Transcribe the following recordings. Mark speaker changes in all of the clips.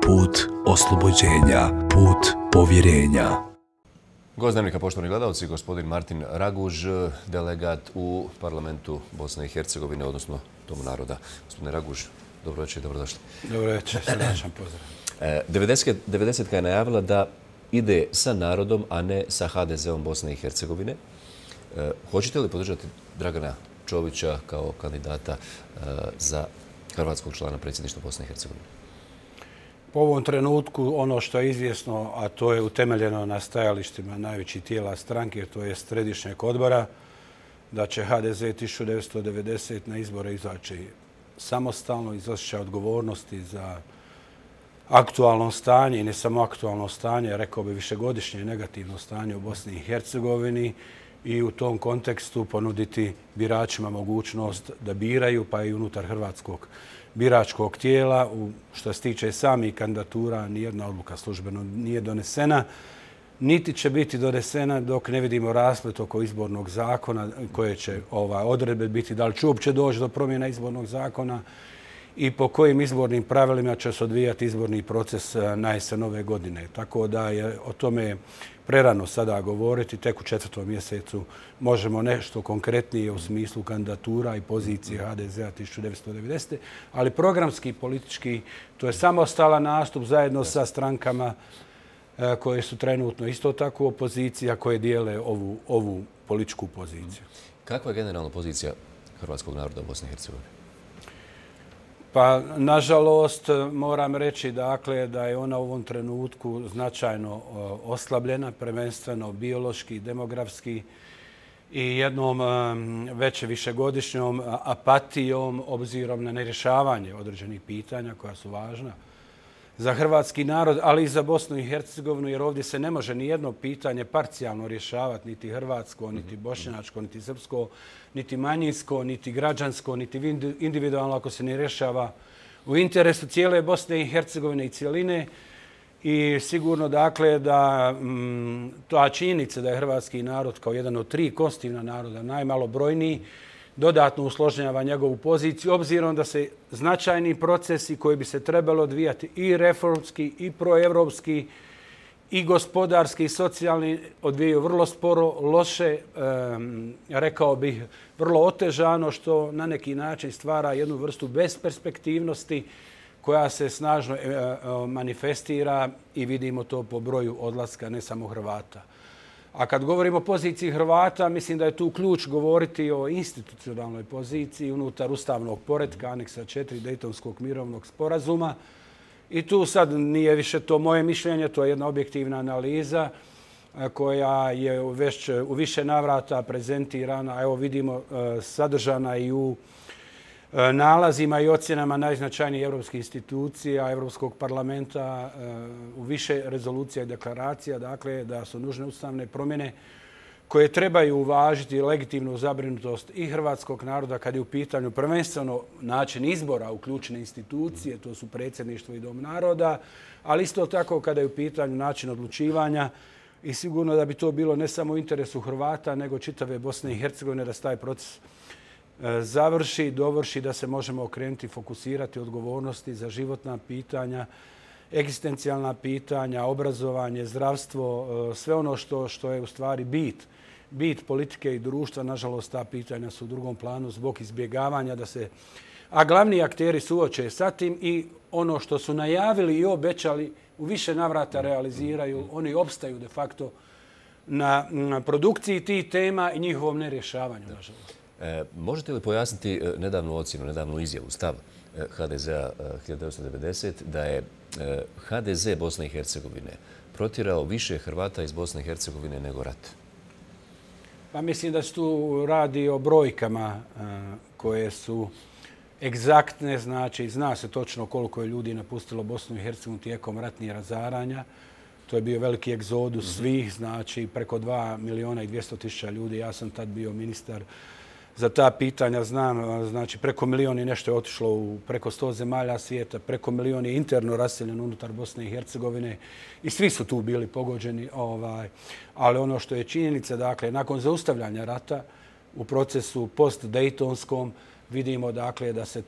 Speaker 1: put oslobođenja, put povjerenja.
Speaker 2: Gost Dnevnika, poštovani gledalci, gospodin Martin Raguž, delegat u parlamentu Bosne i Hercegovine, odnosno Domu naroda. Gospodine Raguž, dobro večer i dobrodošli.
Speaker 3: Dobro večer, srdačan pozdrav.
Speaker 2: 90-ka je najavila da ide sa narodom, a ne sa HDZ-om Bosne i Hercegovine. Hoćete li podržati Dragana Čovića kao kandidata za hrvatskog člana predsjedništva Bosne i Hercegovine?
Speaker 3: Po ovom trenutku ono što je izvjesno, a to je utemeljeno na stajalištima najvećih tijela stranke, to je središnjeg odbora, da će HDZ 1990 na izbore izaći samostalno, iz osjećaja odgovornosti za aktualno stanje i ne samo aktualno stanje, rekao bi višegodišnje negativno stanje u Bosni i Hercegovini i u tom kontekstu ponuditi biračima mogućnost da biraju, pa i unutar hrvatskog biračkog tijela. Što se tiče samih kandidatura, nijedna odluka službeno nije donesena, niti će biti donesena dok ne vidimo rasplet oko izbornog zakona, koje će odredbe biti, da li će uopće doći do promjena izbornog zakona i po kojim izbornim pravilima će se odvijati izborni proces na jesen ove godine. Tako da je o tome prerano sada govoriti. Tek u 4. mjesecu možemo nešto konkretnije u smislu kandidatura i pozicije HDZ-a 1990. Ali programski, politički, to je samostalan nastup zajedno sa strankama koje su trenutno isto tako u opoziciji, a koje dijele ovu političku poziciju.
Speaker 2: Kakva je generalna pozicija hrvatskog naroda u Bosni i Hercegovini?
Speaker 3: Pa, nažalost, moram reći dakle, da je ona u ovom trenutku značajno oslabljena, prvenstveno biološki, demografski i jednom već višegodišnjom apatijom obzirom na nerješavanje određenih pitanja koja su važna za hrvatski narod, ali i za Bosnu i Hercegovinu, jer ovdje se ne može ni jedno pitanje parcijalno rješavati, niti hrvatsko, niti bošnjačko, niti srpsko, niti manjinsko, niti građansko, niti individualno ako se ne rješava u interesu cijele Bosne i Hercegovine i cijeline. I sigurno dakle da ta činjenica da je hrvatski narod kao jedan od 3 konstitutivna naroda najmalobrojniji dodatno usložnjava njegovu poziciju, obzirom da se značajni procesi koji bi se trebalo odvijati i reformski, i proevropski, i gospodarski, i socijalni odvijaju vrlo sporo, loše, rekao bih, vrlo otežano, što na neki način stvara jednu vrstu besperspektivnosti koja se snažno manifestira i vidimo to po broju odlaska ne samo Hrvata. A kad govorimo o poziciji Hrvata, mislim da je tu ključ govoriti o institucionalnoj poziciji unutar ustavnog poretka, aneksa 4 Dejtonskog mirovnog sporazuma. I tu sad nije više to moje mišljenje, to je jedna objektivna analiza koja je već u više navrata prezentirana, a evo vidimo sadržana i u nalazima i ocjenama najznačajnijih europskih institucija, Europskog parlamenta, u više rezolucija i deklaracija, dakle da su nužne ustavne promjene koje trebaju uvažiti legitimnu zabrinutost i hrvatskog naroda kad je u pitanju prvenstveno način izbora u ključne institucije, to su predsjedništvo i Dom naroda, ali isto tako kada je u pitanju način odlučivanja i sigurno da bi to bilo ne samo u interesu Hrvata, nego čitave Bosne i Hercegovine da se taj proces završi, dovrši, da se možemo okrenuti, fokusirati odgovornosti za životna pitanja, egzistencijalna pitanja, obrazovanje, zdravstvo, sve ono što je u stvari bit politike i društva. Nažalost, ta pitanja su u drugom planu zbog izbjegavanja da se, a glavni akteri suoče sa tim i ono što su najavili i obećali u više navrata realiziraju, oni opstaju de facto na produkciji tih tema i njihovom nerješavanju, nažalost.
Speaker 2: Možete li pojasniti nedavnu ocjenu, nedavnu izjavu, stav HDZ-a 1990 da je HDZ Bosne i Hercegovine protjerao više Hrvata iz Bosne i Hercegovine nego rat?
Speaker 3: Pa mislim da se tu radi o brojkama koje su egzaktne, znači zna se točno koliko je ljudi napustilo Bosnu i Hercegovinu tijekom ratnih razaranja. To je bio veliki egzodus svih, znači preko 2.200.000 ljudi. Ja sam tad bio ministar za ta pitanja, znam, znači preko 1 milion i nešto je otišlo u preko 100 zemalja svijeta, preko 1 milion je interno raseljeno unutar Bosne i Hercegovine i svi su tu bili pogođeni. Ali ono što je činjenica, dakle, nakon zaustavljanja rata u procesu post-Dejtonskom vidimo dakle da se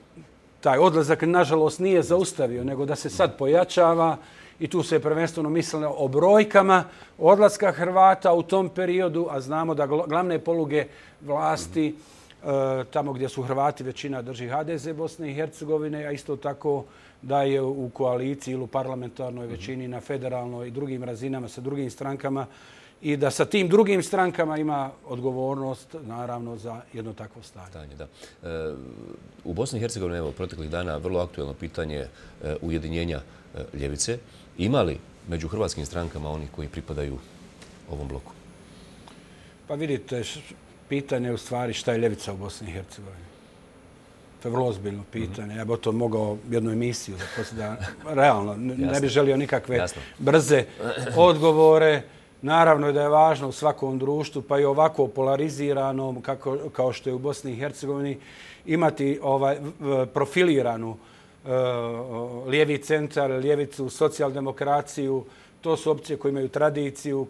Speaker 3: taj odlazak nažalost nije zaustavio, nego da se sad pojačava i tu se prvenstveno mislilo o brojkama odlaska Hrvata u tom periodu, a znamo da glavne poluge vlasti tamo gdje su Hrvati većina drži HDZ Bosne i Hercegovine, a isto tako da je u koaliciji ili u parlamentarnoj većini na federalnoj i drugim razinama sa drugim strankama i da sa tim drugim strankama ima odgovornost, naravno, za jedno takvo stanje.
Speaker 2: Da. U Bosni i Hercegovini, evo, proteklih dana vrlo aktuelno pitanje ujedinjenja ljevice. Ima li među hrvatskim strankama oni koji pripadaju ovom bloku?
Speaker 3: Pa vidite, pitanje je u stvari šta je ljevica u Bosni i Hercegovini. To je vrlo ozbiljno pitanje. Ja bih o tom mogao jednu emisiju da realno ne bih želio nikakve brze odgovore. Naravno je da je važno u svakom društvu, pa i ovako polariziranom kao što je u Bosni i Hercegovini, imati profiliranu lijevi centar, ljevicu, socijaldemokraciju. To su opcije koje imaju tradiciju,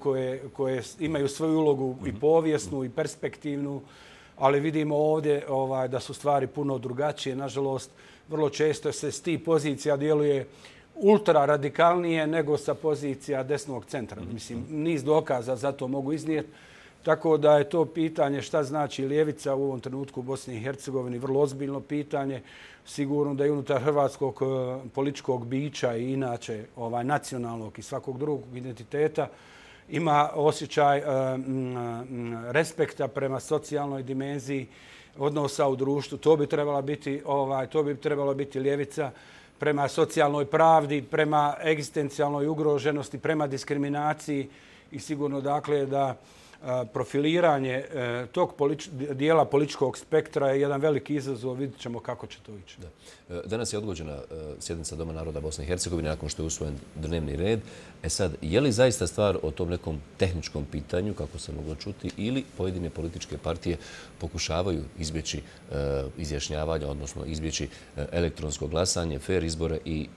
Speaker 3: koje imaju svoju ulogu i povijesnu i perspektivnu, ali vidimo ovdje da su stvari puno drugačije. Nažalost, vrlo često se s tih pozicija djeluje ultra radikalnije nego sa pozicija desnog centra. Mislim, niz dokaza za to mogu iznijeti. Tako da je to pitanje šta znači ljevica u ovom trenutku u Bosni i Hercegovini vrlo ozbiljno pitanje. Sigurno da i unutar hrvatskog političkog bića i inače nacionalnog i svakog drugog identiteta ima osjećaj respekta prema socijalnoj dimenziji odnosa u društvu. To bi trebalo biti ljevica prema socijalnoj pravdi, prema egzistencijalnoj ugroženosti, prema diskriminaciji i sigurno dakle da profiliranje tog dijela političkog spektra je jedan veliki izazov. Vidjet ćemo kako će to ići.
Speaker 2: Danas je odgođena sjednica Doma naroda Bosne i Hercegovine nakon što je usvojen dnevni red. Sad, je li zaista stvar o tom nekom tehničkom pitanju, kako se moglo čuti, ili pojedine političke partije pokušavaju izbjeći izjašnjavanje, odnosno izbjeći elektronsko glasanje, fer izbore i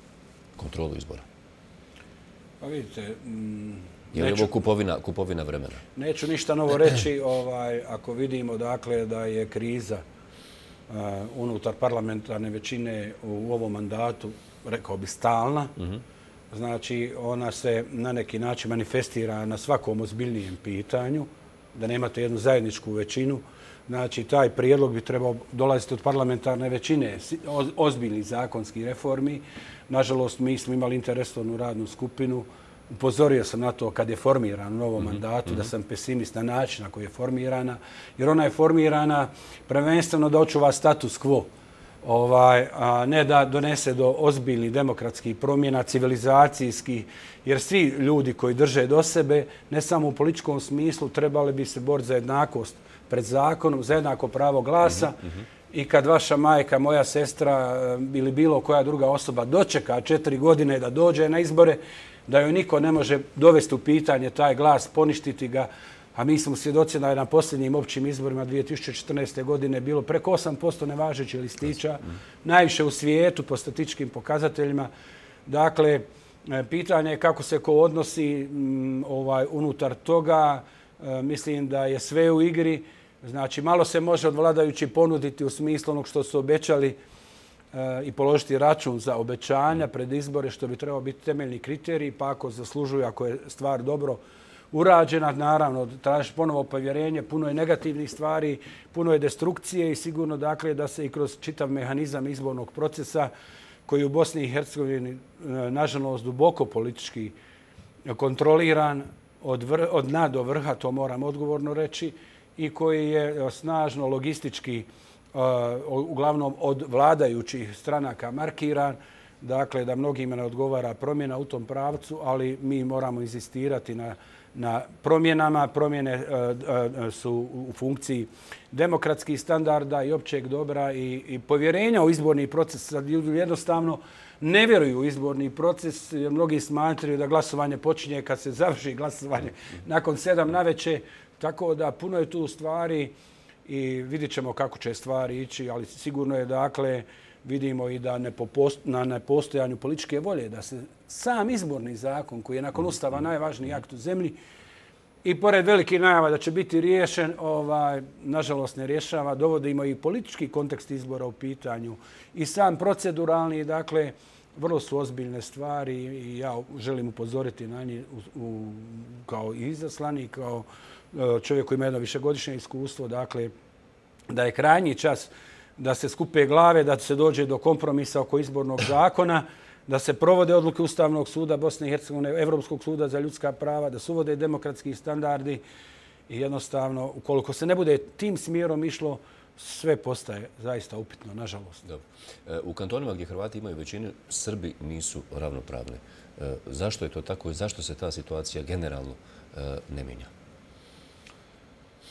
Speaker 2: kontrolu izbora?
Speaker 3: Pa vidite,
Speaker 2: je li ovo kupovina vremena?
Speaker 3: Neću ništa novo reći ako vidimo dakle da je kriza unutar parlamentarne većine u ovom mandatu, rekao bi, stalna. Znači, ona se na neki način manifestira na svakom ozbiljnijem pitanju, da nemate jednu zajedničku većinu. Znači, taj prijedlog bi trebao dolaziti od parlamentarne većine, ozbiljnih zakonskih reformi. Nažalost, mi smo imali interesovnu radnu skupinu. Upozorio sam na to kad je formiran u novom mandatu, da sam pesimist na način na koji je formirana, jer ona je formirana prvenstveno da očuva status quo, a ne da donese do ozbiljnih demokratskih promjena, civilizacijskih, jer svi ljudi koji drže do sebe, ne samo u političkom smislu, trebali bi se boriti za jednakost pred zakonom, za jednako pravo glasa. I kad vaša majka, moja sestra ili bilo koja druga osoba dočeka 4 godine da dođe na izbore, da joj niko ne može dovesti u pitanje taj glas, poništiti ga. A mi smo svjedoci da je na posljednjim općim izborima 2014. godine bilo preko 8% nevažećih listića, najviše u svijetu po statističkim pokazateljima. Dakle, pitanje je kako se ko odnosi unutar toga. Mislim da je sve u igri. Znači, malo se može od vladajući ponuditi u smislu onog što su obećali i položiti račun za obećanja pred izbore, što bi trebao biti temeljni kriterij, pa ako zaslužuju, ako je stvar dobro urađena, naravno, tražiš ponovo povjerenje, puno je negativnih stvari, puno je destrukcije i sigurno dakle da se i kroz čitav mehanizam izbornog procesa koji u Bosni i Hercegovini nažalost duboko politički kontroliran od dna do vrha, to moram odgovorno reći, i koji je snažno logistički uglavnom od vladajućih stranaka markiran, dakle da mnogima ne odgovara promjena u tom pravcu, ali mi moramo insistirati na promjenama. Promjene su u funkciji demokratskih standarda i općeg dobra i povjerenja u izborni proces. Ljudi jednostavno ne vjeruju u izborni proces, jer mnogi smatraju da glasovanje počinje kad se završi glasovanje nakon 7 navečer. Tako da puno je tu stvari i vidjet ćemo kako će stvari ići, ali sigurno je dakle, vidimo i da na nepostojanju političke volje, da se sam izborni zakon, koji je nakon Ustava najvažniji akt u zemlji, i pored velikih najava da će biti riješen, nažalost ne rješava. Dovodimo i politički kontekst izbora u pitanju i sam proceduralni, dakle, vrlo su ozbiljne stvari i ja želim upozoriti na njih kao izaslanik, kao čovjek koji ima jedno višegodišnje iskustvo, dakle, da je krajnji čas da se skupe glave, da se dođe do kompromisa oko izbornog zakona, da se provode odluke Ustavnog suda Bosne i Hercegovine, Evropskog suda za ljudska prava, da se uvode demokratski standardi i jednostavno, ukoliko se ne bude tim smjerom išlo, sve postaje zaista upitno, nažalost.
Speaker 2: Dobro. U kantonima gdje Hrvati imaju većinu, Srbi nisu ravnopravni. Zašto je to tako i zašto se ta situacija generalno ne mijenja?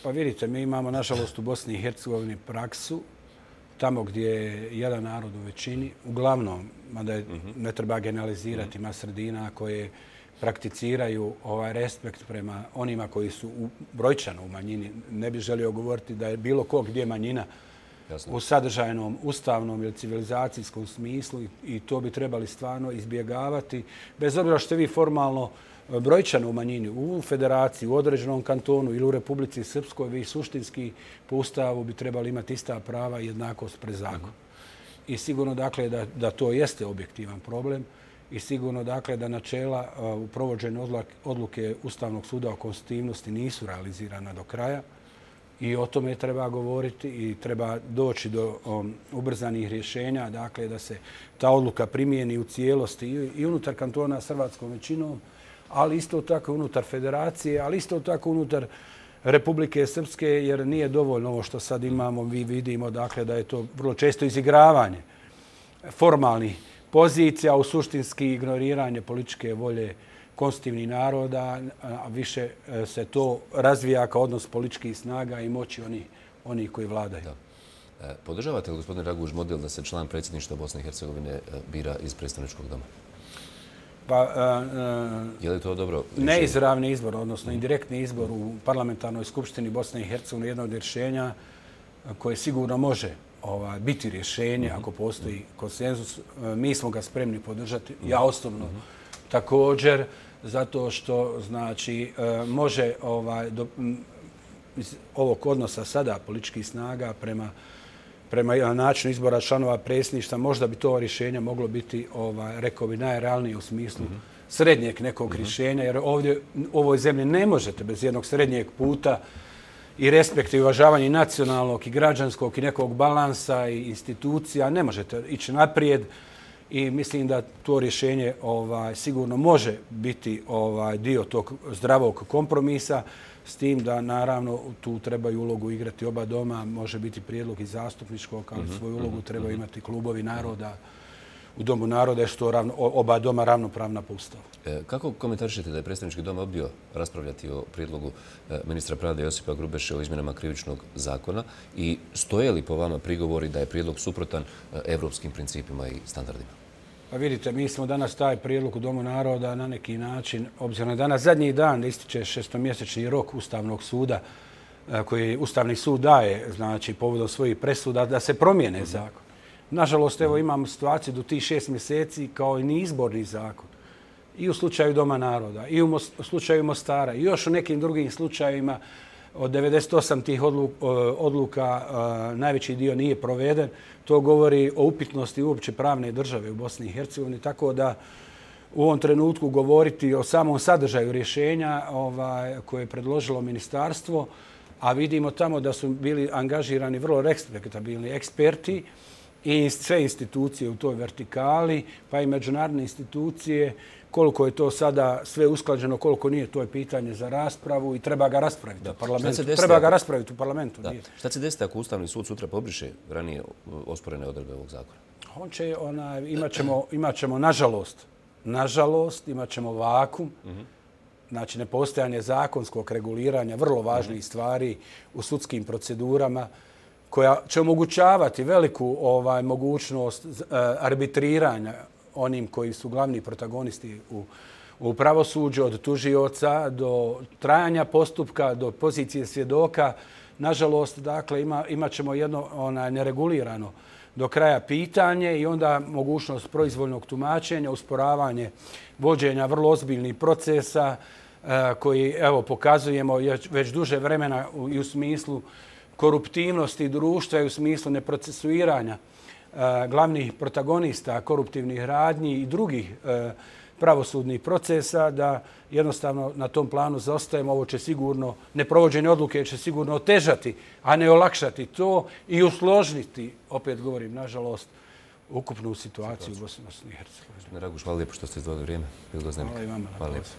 Speaker 3: Pa vidite, mi imamo, nažalost, u Bosni i Hercegovini praksu tamo gdje je jedan narod u većini, uglavnom, mada ne treba generalizirati, ima sredina koje prakticiraju respekt prema onima koji su brojčano u manjini. Ne bih želio govoriti da je bilo ko gdje manjina u sadržajnom, ustavnom ili civilizacijskom smislu i to bi trebali stvarno izbjegavati. Bez obzira što ste vi formalno brojčano u manjini, u federaciji, u određenom kantonu ili u Republici Srpskoj, vi suštinski po Ustavu bi trebali imati ista prava i jednakost pred zakon. I sigurno, dakle, da to jeste objektivan problem i sigurno, dakle, da načela u provođenju odluke Ustavnog suda o konstitutivnosti nisu realizirana do kraja i o tome treba govoriti i treba doći do ubrzanih rješenja, dakle, da se ta odluka primijeni u cijelosti i unutar kantona s hrvatskom većinom, ali isto tako unutar federacije, ali isto tako unutar Republike Srpske, jer nije dovoljno ovo što sad imamo. Mi vidimo, dakle, da je to vrlo često izigravanje formalnih pozicija, u suštinski ignoriranje političke volje konstitutivnih naroda, a više se to razvija kao odnos političkih snaga i moći onih koji vladaju.
Speaker 2: Da. Podržavate li, gospodine Raguž, model da se član predsjedništva Bosne i Hercegovine bira iz predstavničkog doma? Je li to dobro?
Speaker 3: Neizravni izbor, odnosno indirektni izbor u parlamentarnoj skupštini Bosne i Hercegovine je jedno od rješenja koje sigurno može biti rješenje ako postoji konsenzus. Mi smo ga spremni podržati. Ja osobno također, zato što znači može iz ovog odnosa sada političkih snaga prema načinu izbora članova predsjedništva, možda bi to rješenje moglo biti, rekao bi, najrealnije u smislu srednjeg nekog rješenja, jer ovdje u ovoj zemlji ne možete bez jednog srednjeg puta i respekta i uvažavanja i nacionalnog i građanskog i nekog balansa i institucija, ne možete ići naprijed i mislim da to rješenje sigurno može biti dio tog zdravog kompromisa, s tim da naravno tu trebaju ulogu igrati oba doma, može biti prijedlog i zastupničkog, ali svoju ulogu trebaju imati klubovi naroda u Domu naroda, što oba doma ravnopravna po Ustavu.
Speaker 2: Kako komentarišete da je predstavnički dom odbio raspravljati o prijedlogu ministra pravde Josipa Grubeše o izmjenama krivičnog zakona i stoje li po vama prigovori da je prijedlog suprotan evropskim principima i standardima?
Speaker 3: Pa vidite, mi smo danas taj prijedlog u Domu naroda na neki način, obzirom na danas zadnji dan da ističe šestomjesečni rok Ustavnog suda koji Ustavni sud daje, znači povodom svojih presuda, da se promijene zakon. Nažalost, evo imamo situaciju do tih 6 mjeseci kao i neizborni zakon. I u slučaju Doma naroda, i u slučaju Mostara, i još u nekim drugim slučajevima od 98 tih odluka najveći dio nije proveden. To govori o upitnosti uopće pravne države u Bosni i Hercegovini, tako da u ovom trenutku govoriti o samom sadržaju rješenja koje je predložilo ministarstvo, a vidimo tamo da su bili angažirani vrlo respektabilni eksperti i sve institucije u toj vertikali, pa i međunarodne institucije, koliko je to sada sve usklađeno, koliko nije, to je pitanje za raspravu i treba ga raspraviti u parlamentu. Treba ga raspraviti u parlamentu.
Speaker 2: Šta će desiti ako Ustavni sud sutra pobriše ranije osporene odredbe ovog zakona?
Speaker 3: Imat ćemo, nažalost, imat ćemo vakum, znači nepostojanje zakonskog reguliranja vrlo važnih stvari u sudskim procedurama, koja će omogućavati veliku mogućnost arbitriranja onim koji su glavni protagonisti u pravosuđu, od tužioca do trajanja postupka, do pozicije svjedoka. Nažalost, dakle, imat ćemo jedno neregulirano do kraja pitanje i onda mogućnost proizvoljnog tumačenja, usporavanje vođenja vrlo ozbiljnih procesa, koji evo pokazujemo već duže vremena i u smislu koruptivnosti društva i u smislu neprocesuiranja glavnih protagonista koruptivnih radnji i drugih pravosudnih procesa, da jednostavno na tom planu zaostajemo. Ovo će sigurno, neprovođenje odluke će sigurno otežati, a ne olakšati to i usložniti, opet govorim, nažalost, ukupnu situaciju u Bosni i Hercegovini.
Speaker 2: Raguš, hvala lijepo što ste izdvojili vrijeme.
Speaker 3: Hvala i vama.
Speaker 2: Hvala lijepo.